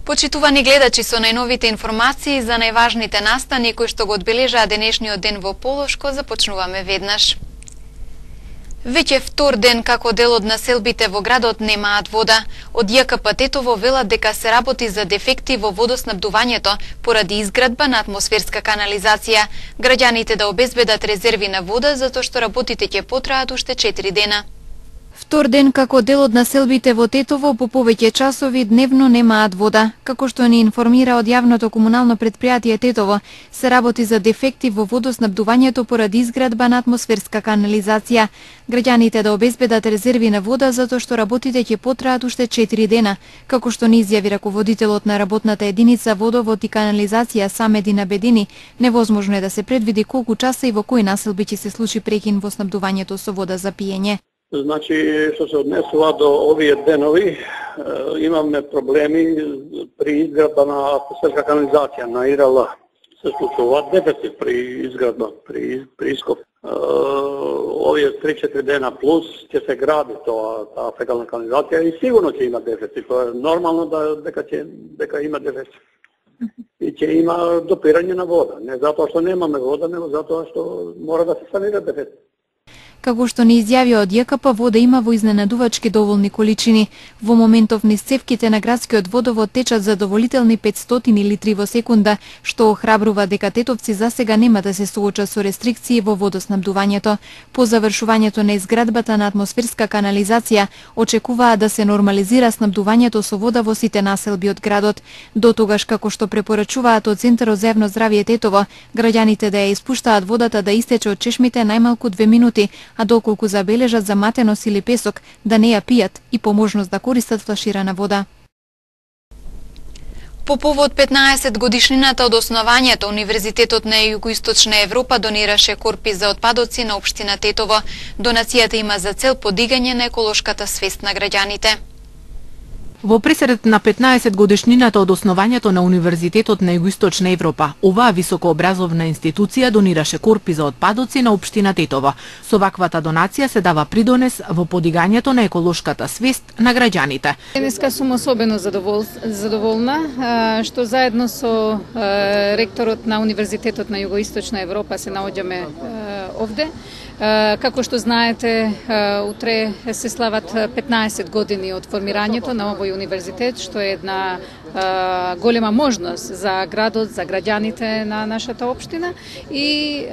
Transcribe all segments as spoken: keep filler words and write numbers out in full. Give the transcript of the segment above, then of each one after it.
Почитувани гледачи, со најновите информации за најважните настани кои што го одбележаа денешниот ден во Полошко, започнуваме веднаш. Веќе втор ден како дел од населбите во градот немаат вода. Од Ја К П Тетово велат дека се работи за дефекти во водоснабдувањето поради изградба на атмосферска канализација. Граѓаните да обезбедат резерви на вода затоа што работите ќе потраат уште четири дена. Втор ден како дел од населбите во Тетово по повеќе часови дневно немаат вода. Како што ни информира од јавното комунално предпријатие Тетово, се работи за дефекти во водоснабдувањето поради изградба на атмосферска канализација. Граѓаните да обезбедат резерви на вода затоа што работите ќе потраат уште четири дена. Како што ни изјави раководителот на работната единица водовод и канализација Самедин Абедини, невозможно е да се предвиди колку часа и во кои населби ќе се случи прекин во снабдувањето со вода за пиење. Значи, што се однесува до овие денови, имаме проблеми при изградба на атмосферска канализација на И Р Л. Се случува дефицит при изградба, при, при ископ. Овие три-четири дена плюс ќе се гради тоа, таа фекална канализација и сигурно ќе има дефицит. Тоа е нормално да, дека, ќе, дека има дефицит. И ќе има допирање на вода. Не затоа што немаме вода, него затоа што мора да се санира дефицит. Како што ни изјави од Ја К П, вода има во изненадувачки доволни количини. Во моментов низ цевките на градскиот водовод течат задоволителни петстотини литри во секунда, што охрабрува дека тетовци засега нема да се соочат со рестрикции во водоснабдувањето. По завршувањето на изградбата на атмосферска канализација, очекуваа да се нормализира снабдувањето со вода во сите населби од градот. До тогаш, како што препорачуваат од Центарот за јавно здравје Тетово, граѓаните да ја испуштаат водата да истече од чешмите најмалку две минути, а доколку забележат заматеност или песок, да не ја пијат и по можност да користат флаширана вода. По повод петнаесет годишнината од основањето, Универзитетот на Југоисточна Европа донираше корпи за отпадоци на општина Тетово. Донацијата има за цел подигање на еколошката свест на граѓаните. Во пресред на петнаесет годишнината од основањето на Универзитетот на Југоисточна Европа, оваа високообразовна институција донираше корпи за отпадоци на општина Тетово. Со ваквата донација се дава придонес во подигањето на еколошката свест на граѓаните. Денеска сум особено задовол, задоволна што заедно со ректорот на Универзитетот на Југоисточна Европа се наоѓаме овде. Како што знаете, утре се слават петнаесет години од формирањето на овој универзитет, што е една голема можност за градот, за граѓаните на нашата општина и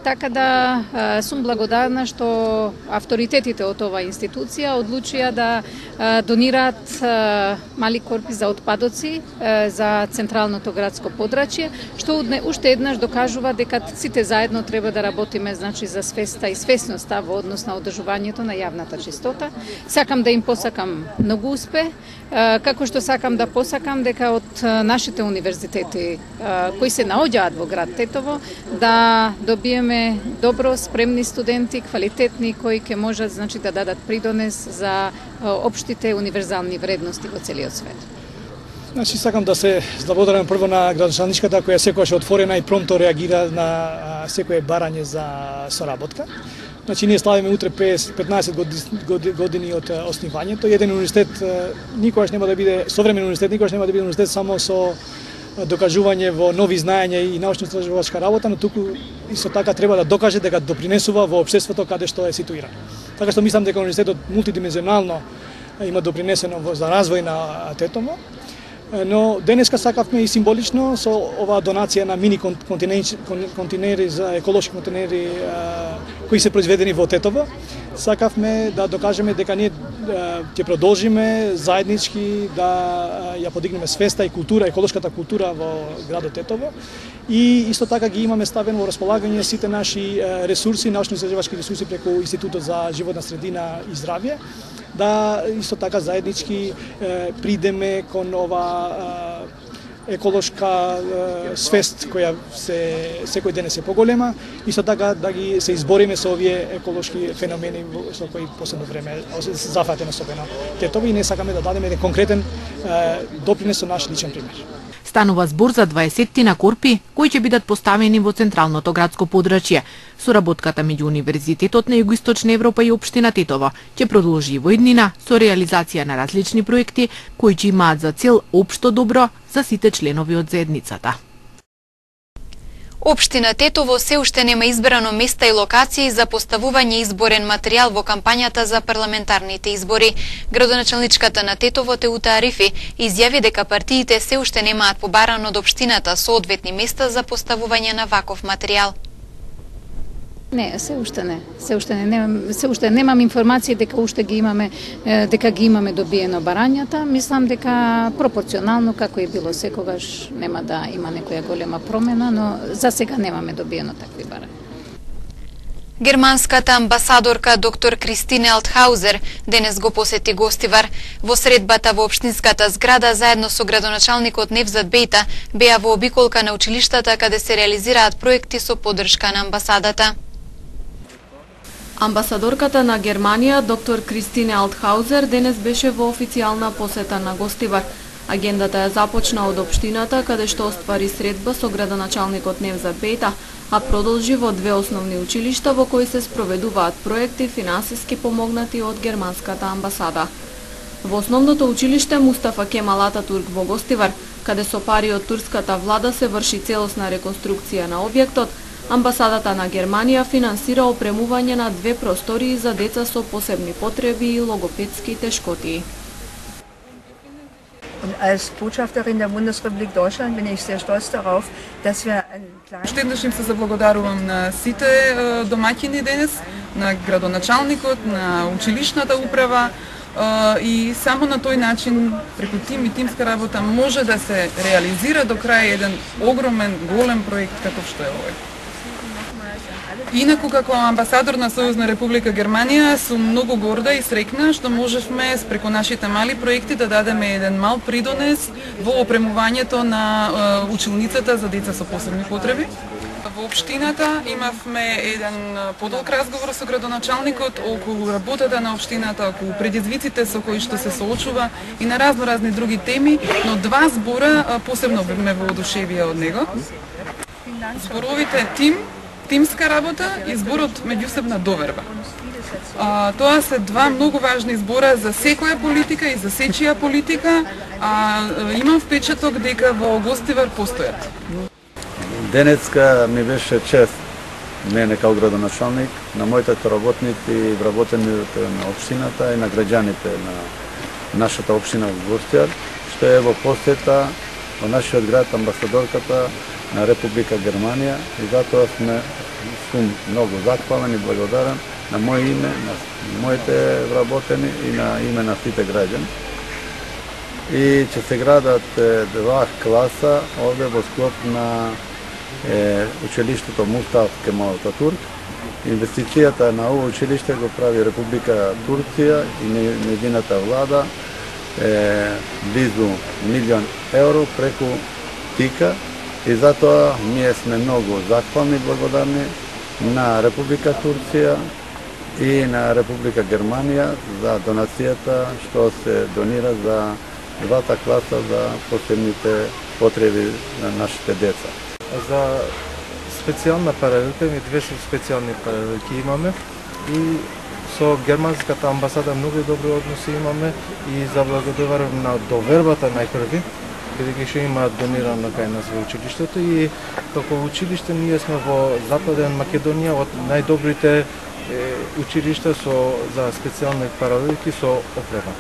така да сум благодарна што авторитетите од оваа институција одлучија да донираат мали корпи за отпадоци за централното градско подрачје, што уште еднаш докажува дека сите заедно треба да работиме, значи, за свеста и свесноста во однос на одржувањето на јавната чистота. Сакам да им посакам многу успех, како што сакам да посакам дека од нашите универзитети кои се наоѓаат во град Тетово да добиеме добро спремни студенти, квалитетни, кои ќе можат, значи, да дадат придонес за општите универзални вредности во целиот свет. Значи, сакам да се заблагодарам прво на градоначалничката која секогаш е отворена и промпто реагира на секое барање за соработка. Значи, ние славиме утре петнаесет години од основањето. Еден универзитет никогаш нема да биде современ универзитет, никогаш нема да биде универзитет само со докажување во нови знаења и научно-истражувачка работа, но туку исто така треба да докаже дека допринесува во општеството каде што е ситуиран. Така што мислам дека универзитетот мултидимензионално има допринесено за развој на Тетово. Но денеска сакавме и символично со оваа донација на мини контейнери за еколошки контейнери кои се произведени во Тетово. Сакавме да докажеме дека ние ќе продолжиме заеднички да ја подигнеме свеста и култура, еколошката култура во градот Тетово. И исто така ги имаме ставено во располагање сите наши ресурси, научно-истражувачки ресурси преку Институтот за животна средина и здравје, да исто така заеднички е, придеме кон ова е, еколошка е, свест која се секој ден се поголема, исто така да ги се избориме со овие еколошки феномени со кои последно време се зафатено особено Тетово и не сакаме да дадеме еден конкретен е, допринес со наш личен пример. Станува збор за дваесет корпи кои ќе бидат поставени во централното градско подрачје. Соработката меѓу Универзитетот на Југоисточна Европа и општина Тетово ќе продолжи во иднина со реализација на различни проекти кои ќе имаат за цел општо добро за сите членови од заедницата. Општина Тетово се уште нема избрано места и локации за поставување изборен материјал во кампањата за парламентарните избори. Градоначалничката на Тетово Теута Арифи изјави дека партиите се уште немаат побарано од општината соодветни места за поставување на ваков материјал. Не, се уште не. Се уште не, немам, се уште немам информации дека уште ги имаме дека ги имаме добиено барањата. Мислам дека пропорционално како е било секогаш нема да има некоја голема промена, но за сега немаме добиено такви барања. Германската амбасадорка доктор Кристине Алтхаузер денес го посети Гостивар. Во средбата во општинската зграда заедно со градоначалникот Невзат Бејта беа во обиколка на училиштата каде се реализираат проекти со поддршка на амбасадата. Амбасадорката на Германија, доктор Кристине Алтхаузер, денес беше во официјална посета на Гостивар. Агендата ја започна од општината, каде што оствари средба со градоначалникот Невзат Бејта, а продолжи во две основни училишта во кои се спроведуваат проекти финансиски помогнати од германската амбасада. Во основното училиште Мустафа Кемал Ататурк во Гостивар, каде со пари од турската влада се врши целосна реконструкција на објектот, амбасадата на Германија финансира опремување на две простории за деца со посебни потреби и логопедски тешкотии. Und als Botschafterin der Bundesrepublik Deutschland bin ich sehr stolz darauf, dass wir ein kleines... Уште еднаш им се заблагодарувам на сите домаќини денес, на градоначалникот, на училишната управа и само на тој начин, преку тим и тимска работа, може да се реализира до крај еден огромен, голем проект како што е овој. Инаку, како амбасадор на Сојузна Република Германија, сум многу горда и среќна што можевме преку нашите мали проекти да дадеме еден мал придонес во опремувањето на училницата за деца со посебни потреби. Во општината имавме еден подолг разговор со градоначалникот околу работата на општината, околу предизвиците со кои што се соочува и на разно разни други теми, но два збора посебно ме воодушевија од него. Зборовите тим, тимска работа и зборот меѓусебна доверба. А, тоа се два многу важни збора за секоја политика и за сечија политика, а имам впечаток дека во Гостивар постојат. Денеска ми беше чест мене као градоначалник, на моите работници и вработените на општината и на граѓаните на нашата општина во Гостивар, што е во посета во нашиот град амбасадорката на Република Германија и затоа сме сум многу захвален и благодарен на моје име, на моите вработени и на име на сите граѓани. И ќе се градат два класа овде во склоп на е, училиштето Мустафа Кемал Ататурк. Инвестицијата на ово училиште го прави Република Турција и нејзината влада е близу милион евро преку ТИКА. И затоа ние сме многу захвални и благодарни на Република Турција и на Република Германија за донацијата што се донира за двата класа за посебните потреби на нашите деца. За специјална паралелка, ми две специјални паралелки имаме и со германската амбасада многу добри односи имаме и заблагодарувам на довербата најпрви, бидејќи што има донирано кај нас во училиштето и како училиште ние сме во Западен Македонија од најдобрите училишта со за специјални паралелки со опрема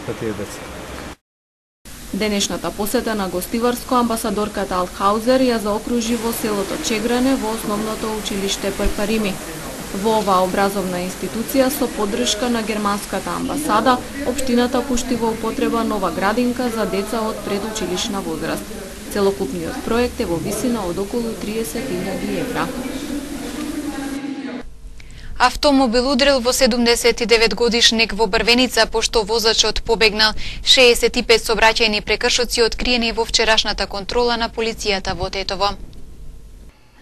за тие деца. Денешната посета на Гостиварско амбасадорката Алтхаузер ја заокружи во селото Чегране во основното училиште Парпарими. Во оваа образовна институција со поддршка на германската амбасада, општината пушти во употреба нова градинка за деца од предучилишна возраст. Целокупниот проект е во висина од околу триесет илјади евра. Автомобил удрил во седумдесет и девет годишник во Брвеница пошто возачот побегнал. шеесет и пет сообраќајни прекршоци откриени во вчерашната контрола на полицијата во Тетово.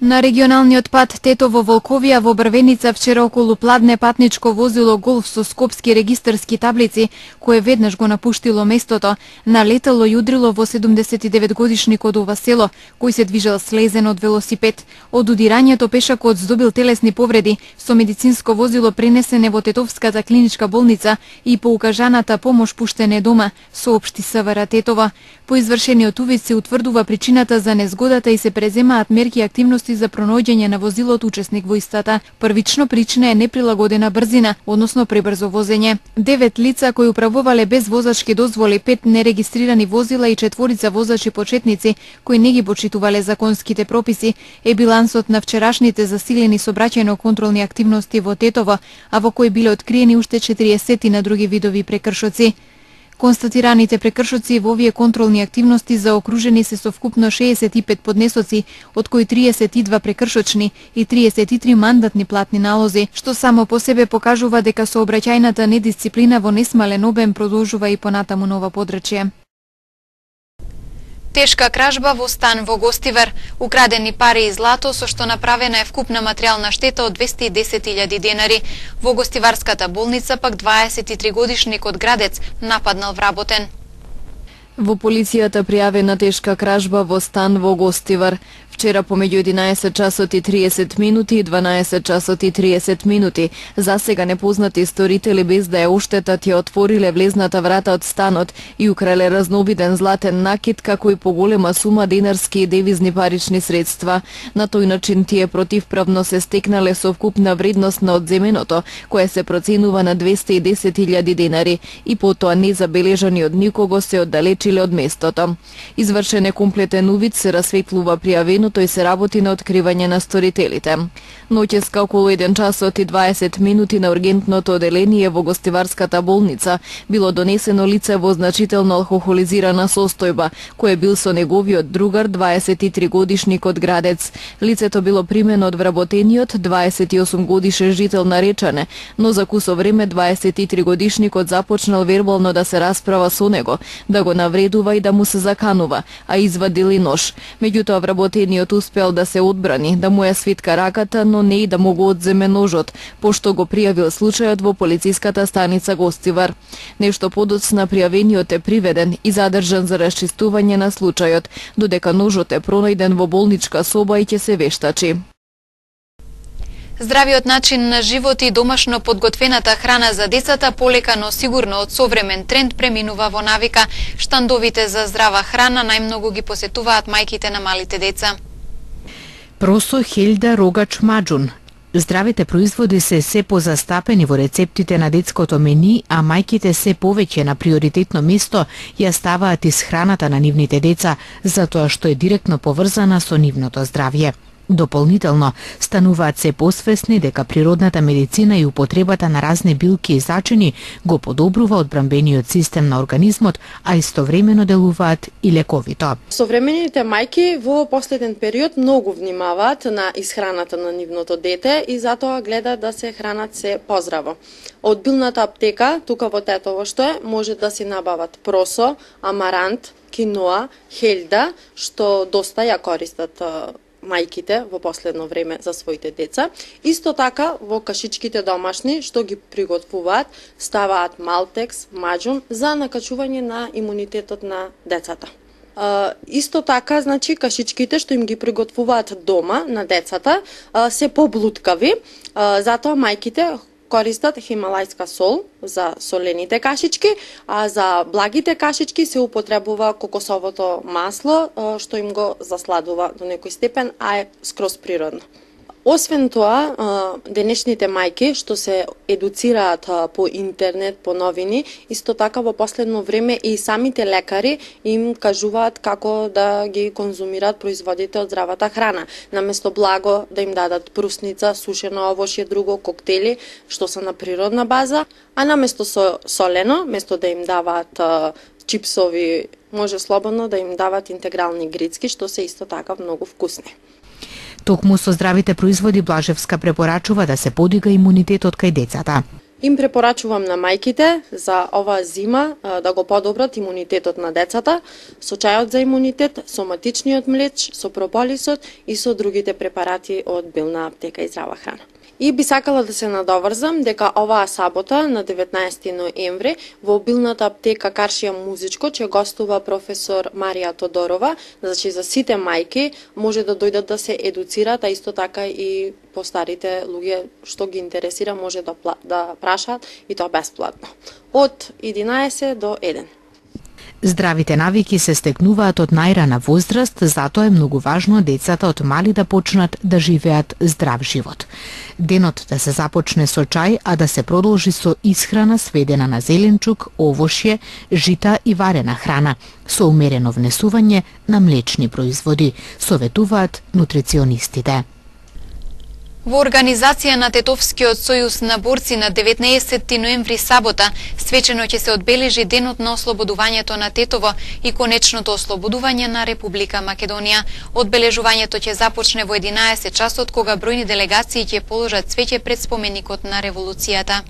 На регионалниот пат Тетово Волковија во Брвеница вчера околу пладне патничко возило Голф со скопски регистарски таблици, кое веднаш го напуштило местото, налетало и удрило во седумдесет и девет годишник од ова село, кој се движел слезен од велосипед. Од удирањето пешакот здобил телесни повреди, со медицинско возило пренесене во Тетовската клиничка болница и по укажаната помош пуштене дома, соопшти СВР Тетова. По извршениот увид се утврдува причината за незгодата и се преземаат мерки и активности за пронаоѓање на возилот учесник во истата. Првично причина е неприлагодена брзина, односно пребрзо возење. Девет лица кои управувале без возачки дозволи, пет нерегистрирани возила и четворица возачи почетници кои не ги почитувале законските прописи е билансот на вчерашните засилени сообраќајно-контролни активности во Тетово, а во кои биле откриени уште четириесет на други видови прекршоци. Констатираните прекршоци во овие контролни активности заокружени се со вкупно шеесет и пет поднесоци, од кои триесет и два прекршочни и триесет и три мандатни платни налози, што само по себе покажува дека сообраќајната недисциплина во несмален обем продолжува и понатаму на ова подрачје. Тешка кражба во стан во Гостивар, украдени пари и злато, со што направена е вкупна материјална штета од двесте и десет илјади денари. Во Гостиварската болница пак дваесет и три годишник од Градец нападнал вработен. Во полицијата пријавена тешка кражба во стан во Гостивар. Вчера помеѓу единаесет часот и триесет минути и дванаесет часот и триесет минути. Засега непознати сторители без да ја оштетат ја отвориле влезната врата од станот и украле разнобиден златен накид, како и поголема сума денарски и девизни парични средства. На тој начин тие противправно се стекнале со вкупна вредност на одземеното, која се проценува на двесте и десет илјади денари, и потоа незабележани од никого се оддалечиле од местото. Извршен е комплетен увид, се расветлува пријавено тој се работи на откривање на сторителите. Ноќеска околу еден часот и дваесет минути на ургентното оделение во Гостиварската болница било донесено лице во значително алкохолизирана состојба, кој бил со неговиот другар дваесет и три годишник од Градец. Лицето било примено од вработениот дваесет и осум годишен жител на Речане, но за кусо време дваесет и три годишникот започнал вербално да се расправа со него, да го навредува и да му се заканува, а извадил и нож. Меѓутоа вработениот успел да се одбрани, да му ја свитка раката, но не и да му го одземе ножот, пошто го пријавил случајот во полициската станица Гостивар. Нешто подоцна пријавениот е приведен и задржан за расчистување на случајот, додека ножот е пронајден во болничка соба и ќе се вештачи. Здравиот начин на живот и домашно подготвената храна за децата полека, но сигурно од современ тренд преминува во навика. Штандовите за здрава храна најмногу ги посетуваат мајките на малите деца. Просо, хелда, рогач, маџун. Здравите производи се се позастапени во рецептите на детското мени, а мајките се повеќе на приоритетно место ја ставаат исхраната на нивните деца, затоа што е директно поврзана со нивното здравје. Дополнително, стануваат се посвесни дека природната медицина и употребата на разни билки и зачини го подобрува одбранбениот систем на организмот, а истовремено делуваат и лековито. Современите мајки во последен период многу внимаваат на исхраната на нивното дете и затоа гледаат да се хранат се поздраво. Од билната аптека, тука во Тетово што е, може да си набават просо, амарант, киноа, хелда, што доста ја користат мајките во последно време за своите деца. Исто така во кашичките домашни што ги приготвуваат, ставаат малтекс, маџун за накачување на имунитетот на децата. Uh, исто така, значи, кашичките што им ги приготвуваат дома на децата uh, се поблуткави, uh, затоа мајките користат хималајска сол за солените кашички, а за благите кашички се употребува кокосовото масло, што им го засладува до некој степен, а е скроз природно. Освен тоа, денешните мајки што се едуцираат по интернет, по новини, исто така во последно време и самите лекари им кажуваат како да ги конзумираат производите од здравата храна. Наместо благо да им дадат прусница, сушено овошје, друго, коктели, што се на природна база, а наместо со солено, место да им даваат чипсови, може слободно да им дават интегрални грицки, што се исто така многу вкусни. Токму со здравите производи Блажевска препорачува да се подига имунитетот кај децата. Им препорачувам на мајките за оваа зима да го подобрат имунитетот на децата со чајот за имунитет, со матичниот млеч, со прополисот и со другите препарати од билна аптека и здрава храна. И би сакала да се надоврзам дека оваа сабота на деветнаесети ноември во билната аптека Каршија Музичко ќе гостува професор Марија Тодорова, значи за сите мајки може да дојдат да се едуцираат, а исто така и постарите луѓе што ги интересира може да да прашаат и тоа бесплатно. Од единаесет до еден. Здравите навики се стекнуваат од најрана возраст, затоа е многу важно децата од мали да почнат да живеат здрав живот. Денот да се започне со чај, а да се продолжи со исхрана сведена на зеленчук, овошје, жита и варена храна, со умерено внесување на млечни производи, советуваат нутриционистите. Во организација на Тетовскиот сојуз на борци на деветнаесети ноември сабота свечено ќе се одбележи денот на ослободувањето на Тетово и конечното ослободување на Република Македонија. Одбележувањето ќе започне во единаесет часот кога бројни делегации ќе положат цвеќе пред споменикот на револуцијата.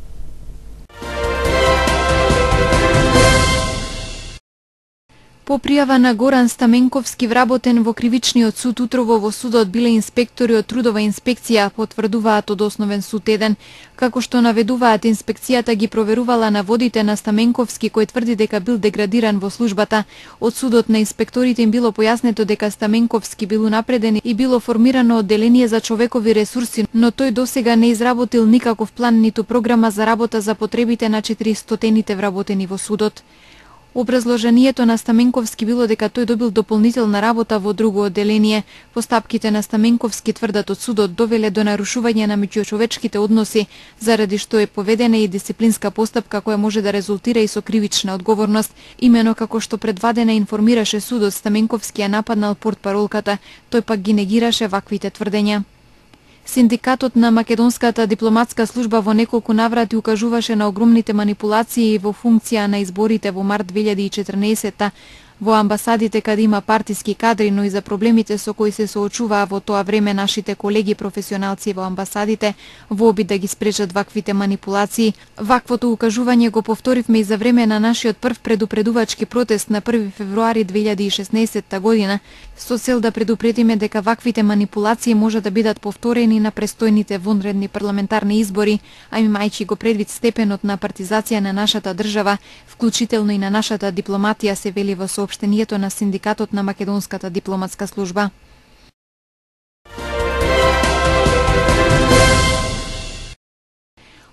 По пријава на Горан Стаменковски, вработен во кривичниот суд утрово во судот биле инспектори од трудова инспекција, потврдуваат од Основен суд еден. Како што наведуваат, инспекцијата ги проверувала наводите на Стаменковски, кој тврди дека бил деградиран во службата. Од судот на инспекторите им било појаснето дека Стаменковски бил унапреден и било формирано одделение за човекови ресурси, но тој досега не изработил никаков план ниту програма за работа за потребите на четиристотините вработени во судот. Образложението на Стаменковски било дека тој добил дополнителна работа во друго одделение. Постапките на Стаменковски, тврдат од судот, довеле до нарушување на меѓучовечките односи, заради што е поведена и дисциплинска постапка која може да резултира и со кривична одговорност. Имено како што предвадена информираше судот, Стаменковски ја нападнал портпаролката, тој пак ги негираше ваквите тврдења. Синдикатот на Македонската дипломатска служба во неколку наврати укажуваше на огромните манипулации во функција на изборите во март две илјади и четрнаесетта во амбасадите каде има партиски кадри, но и за проблемите со кои се соочуваа во тоа време нашите колеги професионалци во амбасадите во обид да ги спречат ваквите манипулации. Ваквото укажување го повторивме и за време на нашиот прв предупредувачки протест на први февруари две илјади и шеснаесетта година, со цел да предупредиме дека ваквите манипулации може да бидат повторени на престојните вонредни парламентарни избори, а имајќи го предвид степенот на партизација на нашата држава, вклучително и на нашата дипломатија, се вели во соопштението на Синдикатот на Македонската дипломатска служба.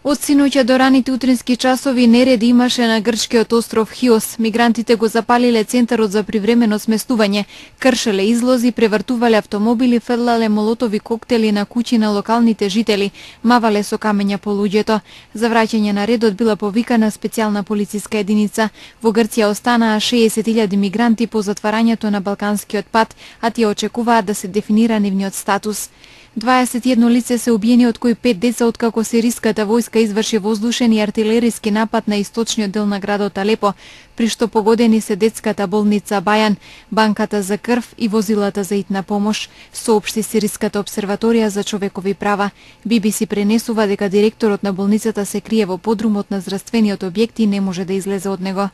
Од синоќа до раните утрински часови нереди имаше на грчкиот остров Хиос. Мигрантите го запалиле центарот за привремено сместување, кршеле излози, превртувале автомобили, фрлале молотови коктели на куќи на локалните жители, мавале со камења по луѓето. За враќање на редот била повикана специјална полициска единица. Во Грција останаа шеесет илјади мигранти по затварањето на Балканскиот пат, а тие очекуваат да се дефинира нивниот статус. дваесет и едно лице се убиени, од кои пет деца откако сириската војска изврши воздушен и артилериски напад на источниот дел на градот Алепо, при што погодени се детската болница Бајан, банката за крв и возилата за итна помош, соопшти Сириската обсерваторија за човекови права. Би Би Си пренесува дека директорот на болницата се крие во подрумот на здравствениот објект и не може да излезе од него.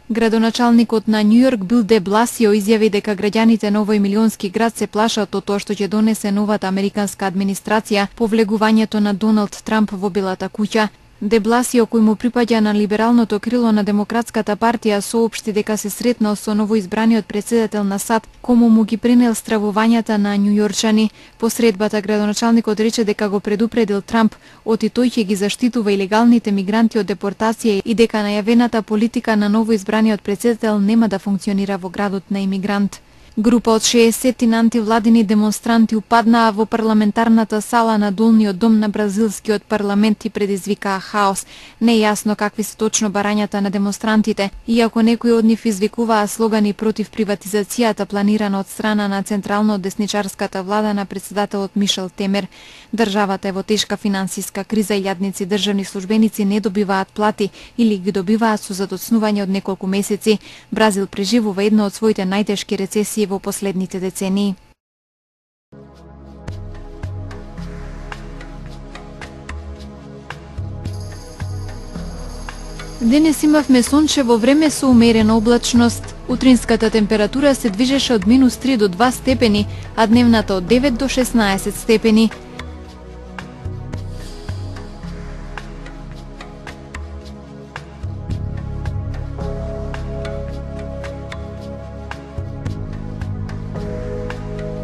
Градоначалникот на Њујорк Бил де Бласио изјави дека граѓаните на овој милионски град се плашат од тоа што ќе донесе новата американска администрација по влегувањето на Доналд Трамп во Белата куќа. Де Бласио, кој му припаѓа на либералното крило на Демократската партија, соопшти дека се сретнал со новоизбраниот претседател на САД, кому му ги пренел стравувањата на њујорчани. По средбата градоначалникот рече дека го предупредил Трамп, оти тој ќе ги заштитува илегалните мигранти од депортација и дека најавената политика на новоизбраниот претседател нема да функционира во градот на имигрант. Група од шеесет антивладини демонстранти упаднаа во парламентарната сала на долниот дом на бразилскиот парламент и предизвикаа хаос. Не е јасно какви се точно барањата на демонстрантите, иако некои од нив извикуваа слогани против приватизацијата планирана од страна на централно десничарската влада на председателот Мишел Темер. Државата е во тешка финансиска криза и јадници државни службеници не добиваат плати или ги добиваат со задоцнување од неколку месеци. Бразил преживува една од своите најтешки рецесии во последните децении. Денес имавме сончево време со умерена облачност. Утринската температура се движеше од минус три до два степени, а дневната од девет до шеснаесет степени.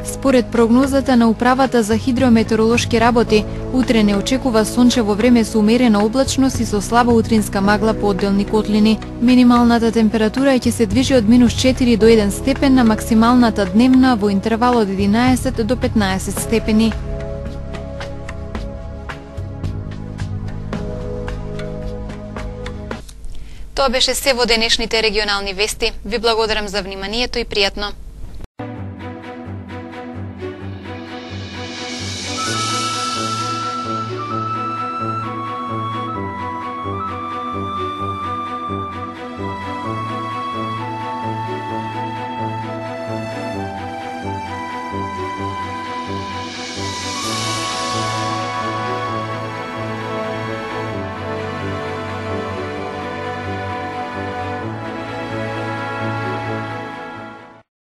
Според прогнозата на Управата за хидрометеоролошки работи, утре не очекува сончево време со умерена облачност и со слаба утринска магла по одделни котлини. Минималната температура ќе се движи од минус четири до еден степен, на максималната дневна во интервал од единаесет до петнаесет степени. Тоа беше се во денешните регионални вести. Ви благодарам за вниманието и пријатно.